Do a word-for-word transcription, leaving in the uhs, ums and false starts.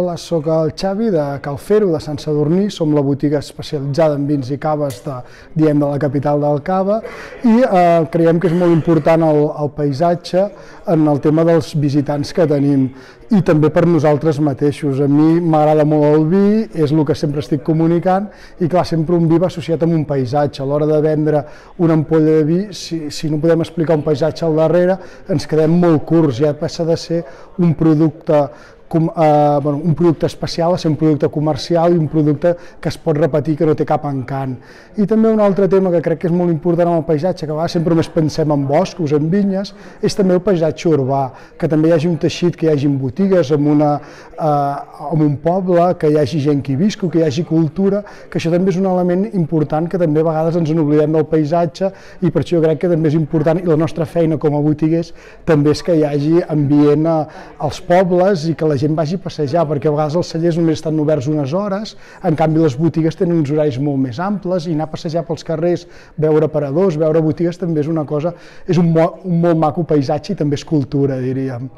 Hola, sóc el Xavi de Cal Fer-ho, de Sant Sadurní, som la botiga especialitzada en vins i caves de, diem, de la capital del cava i eh, creiem que és molt important el, el paisatge en el tema dels visitants que tenim i també per nosaltres mateixos. A mi m'agrada molt el vi, és el que sempre estic comunicant i clar, sempre un vi va associat amb un paisatge. A l'hora de vendre una ampolla de vi, si, si no podem explicar un paisatge al darrere, ens quedem molt curts, ja passa de ser un producte Com, eh, bueno, un producte especial a ser un producte comercial i un producte que es pot repetir, que no té cap encant. I també un altre tema que crec que és molt important en el paisatge, que a vegades sempre només pensem en boscos, en vinyes, és també el paisatge urbà, que també hi hagi un teixit, que hi hagi botigues, en, una, eh, en un poble, que hi hagi gent que hi viscu, que hi hagi cultura, que això també és un element important que també a vegades ens n'oblidem del paisatge i per això jo crec que també és important i la nostra feina com a botiguers també és que hi hagi ambient als pobles i que la gent vagi a passejar, perquè a vegades els cellers només estan oberts unes hores, en canvi les botigues tenen uns horaris molt més amples i anar a passejar pels carrers, veure aparadors, veure botigues també és una cosa, és un, mo un molt maco paisatge i també és cultura, diríem.